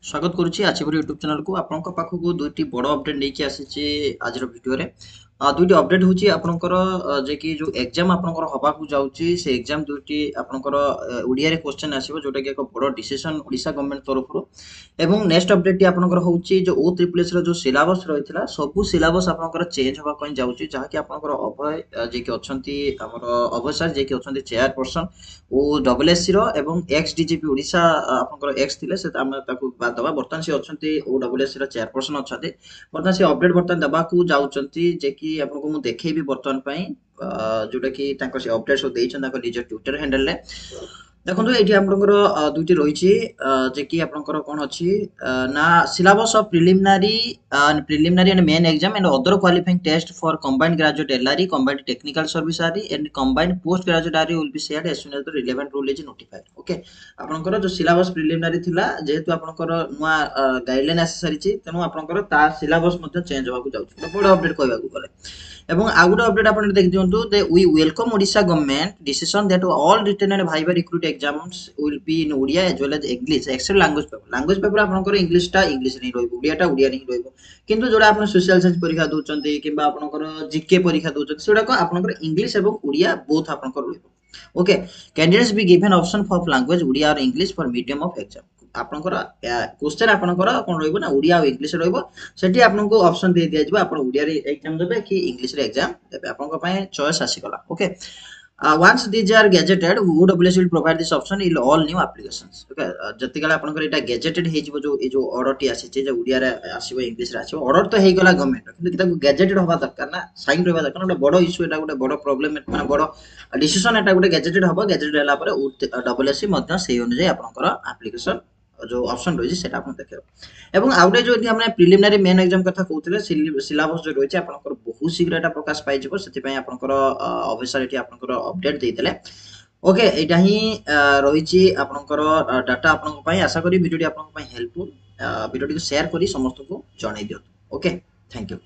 ସ୍ୱାଗତ କରୁଛି ଆଚିଭର ୟୁଟ୍ୟୁବ୍ ଚ୍ୟାନେଲକୁ। ଆପଣଙ୍କ ପାଖକୁ ଦୁଇଟି ବଡ଼ ଅପଡେଟ୍ ନେଇକି ଆସିଛି ଆଜିର ଭିଡ଼ିଓରେ। ଦୁଇଟି ଅପଡେଟ୍ ହେଉଛି ଆପଣଙ୍କର ଯେ କି ଯେଉଁ ଏକ୍ଜାମ୍ ଆପଣଙ୍କର ହେବାକୁ ଯାଉଛି, ସେ ଏକ୍ଜାମ୍ ଦୁଇଟି ଆପଣଙ୍କର ଓଡ଼ିଆରେ କ୍ୱେଶ୍ଚନ୍ ଆସିବ, ଯେଉଁଟାକି ଏକ ବଡ଼ ଡିସିସନ୍ ଓଡ଼ିଶା ଗଭର୍ଣ୍ଣମେଣ୍ଟ ତରଫରୁ। ଏବଂ ନେକ୍ସଟ ଅପଡେଟ୍ଟି ଆପଣଙ୍କର ହେଉଛି ଯେଉଁ ଓ ତ୍ରିପଲ୍ ଏସ୍ର ଯେଉଁ ସିଲାବସ୍ ରହିଥିଲା, ସବୁ ସିଲାବସ୍ ଆପଣଙ୍କର ଚେଞ୍ଜ ହେବା ପାଇଁ ଯାଉଛି, ଯାହାକି ଆପଣଙ୍କର ଅଭୟ ଯିଏକି ଅଛନ୍ତି, ଆମର ଅଭୟ ସାର୍ ଯିଏକି ଅଛନ୍ତି ଚେୟାରପର୍ସନ୍ ଓ ଡବଲ୍ ଏସ୍ ସିର ଏବଂ ଏକ୍ସ ଡିଜିପି ଓଡ଼ିଶା, ଆପଣଙ୍କର ଏକ୍ସ ଥିଲେ ସେ, ଆମେ ତାକୁ ବାଦ ଦେବା, ବର୍ତ୍ତମାନ ସେ ଅଛନ୍ତି ଓ ଡବଲ୍ ଏସ୍ ସିର ଚେୟାରପର୍ସନ୍ ଅଛନ୍ତି। ବର୍ତ୍ତମାନ ସେ ଅପଡେଟ୍ ବର୍ତ୍ତମାନ ଦେବାକୁ ଯାଉଛନ୍ତି, ଯେ କି ଆପଣଙ୍କୁ ମୁଁ ଦେଖେଇବି ବର୍ତ୍ତମାନ ପାଇଁ, ଯୋଉଟାକି ତାଙ୍କ ସେ ଅପଡେଟ୍ ସବୁ ଦେଇଛନ୍ତି ତାଙ୍କ ନିଜ ଟ୍ୱିଟର ହ୍ୟାଣ୍ଡେଲରେ। ଦେଖନ୍ତୁ, ଏଇଠି ଆପଣଙ୍କର ଦୁଇଟି ରହିଛି, ଯେ କି ଆପଣଙ୍କର କ'ଣ ଅଛି ନା syllabus of preliminary and main exam and other qualifying test for combined graduate LRE, combined technical service RE and combined post graduate RE will be shared as soon as the relevant rule is notified. Okay, ଆପଣଙ୍କର ଯୋଉ syllabus preliminary ଥିଲା, ଯେହେତୁ ଆପଣଙ୍କର ନୂଆ guideline ଆସି ସାରିଛି, ତେଣୁ ଆପଣଙ୍କର ତା ସିଲାବସ୍ ମଧ୍ୟ ଚେଞ୍ଜ ହେବାକୁ ଯାଉଛି, ଗୋଟେ ବଡ଼ ଅପଡେଟ୍ କହିବାକୁ ଗଲେ। ଏବଂ ଆଉ ଗୋଟେ ଅପଡେଟ୍ ଆପଣ ଦେଖି ଦିଅନ୍ତୁ, ଯେ we welcome Odisha government decision that all written and viva recruit exams will be in Odia as well as English except language paper. Language paper ଆପଣଙ୍କର ଇଂଲିଶଟା ଇଂଲିଶରେ ହିଁ ରହିବ, ଓଡ଼ିଆଟା ଓଡ଼ିଆରେ ହିଁ ରହିବ। କିନ୍ତୁ ଯୋଉଟା ଆପଣ ସୋସିଆଲ ସାଇନ୍ସ ପରୀକ୍ଷା ଦଉଛନ୍ତି କିମ୍ବା ଆପଣଙ୍କର ଜିକେ ପରୀକ୍ଷା ଦଉଛନ୍ତି, ସେଗୁଡ଼ାକ ଆପଣଙ୍କର ଇଂଲିଶ ଏବଂ ଓଡ଼ିଆ ବୋଥ୍ ଆପଣଙ୍କର ରହିବ। Okay, candidates be given option for language Odia or English for medium of exam. ଆପଣଙ୍କର କ୍ୱେଶ୍ଚନ୍ ଆପଣଙ୍କର କ'ଣ ରହିବ ନା ଓଡ଼ିଆ ଆଉ ଇଂଲିଶ ରହିବ। ସେଠି ଆପଣଙ୍କୁ ଅପସନ୍ ଦେଇ ଦିଆଯିବ, ଆପଣ ଓଡ଼ିଆରେ ଏକ୍ଜାମ୍ ଦେବେ କି ଇଂଲିଶରେ ଏକ୍ଜାମ୍ ଦେବେ, ଆପଣଙ୍କ ପାଇଁ ଚଏସ୍ ଆସିଗଲା। Okay, once these are gazetted, OSSC will provide this option in all new applications. Okay, ଯେତିକିବେଳେ ଆପଣଙ୍କର ଏଇଟା ଗେଜେଟେଡ୍ ହେଇଯିବ, ଯୋଉ ଏଇ ଯୋଉ ଅର୍ଡରଟି ଆସିଛି ଯେ ଓଡ଼ିଆରେ ଆସିବ, ଇଂଲିଶରେ ଆସିବ, ଅର୍ଡର ତ ହେଇଗଲା ଗଭର୍ଣ୍ଣମେଣ୍ଟ, କିନ୍ତୁ ତାକୁ ଗେଜେଟେଡ୍ ହବା ଦରକାର ନା, ସାଇନ୍ ରହିବା ଦରକାର। ଗୋଟେ ବଡ଼ ଇସ୍ୟୁ ଏଟା, ଗୋଟେ ବଡ଼ ପ୍ରୋବ୍ଲେମ, ମାନେ ବଡ଼ ଡିସିସନ ଏଟା ଗୋଟେ। ଗେଜେଟେଡ୍ ହବ, ଗେଜେଟେଡ୍ ହେଲା ପରେ ଡବଲ୍ ଏସ୍ ସି ମଧ୍ୟ ସେଇ ଅନୁଯାୟୀ ଆପଣଙ୍କର ଆପ୍ଲିକେସନ ଯୋଉ ଅପସନ୍ ରହିଛି ସେଇଟା ଆପଣ ଦେଖିବ। ଏବଂ ଆଉ ଗୋଟେ ଯୋଉ ଆମେ ପ୍ରିଲିମିନାରୀ ମେନ୍ ଏକ୍ଜାମ କଥା କହୁଥିଲେ, ସିଲାବସ୍ ଯୋଉ ରହିଛି ଆପଣଙ୍କର, ବହୁତ ଶୀଘ୍ର ଏଟା ପ୍ରକାଶ ପାଇଯିବ। ସେଥିପାଇଁ ଆପଣଙ୍କର ଅଫିସର ଏଠି ଆପଣଙ୍କର ଅପଡେଟ୍ ଦେଇଥିଲେ। ଓକେ, ଏଇଟା ହିଁ ରହିଛି ଆପଣଙ୍କର ଡାଟା ଆପଣଙ୍କ ପାଇଁ। ଆଶା କରି ଭିଡ଼ିଓଟି ଆପଣଙ୍କ ପାଇଁ ହେଲ୍ପଫୁଲ୍। ଭିଡ଼ିଓଟିକୁ ସେୟାର କରି ସମସ୍ତଙ୍କୁ ଜଣାଇ ଦିଅନ୍ତୁ। Okay, thank you.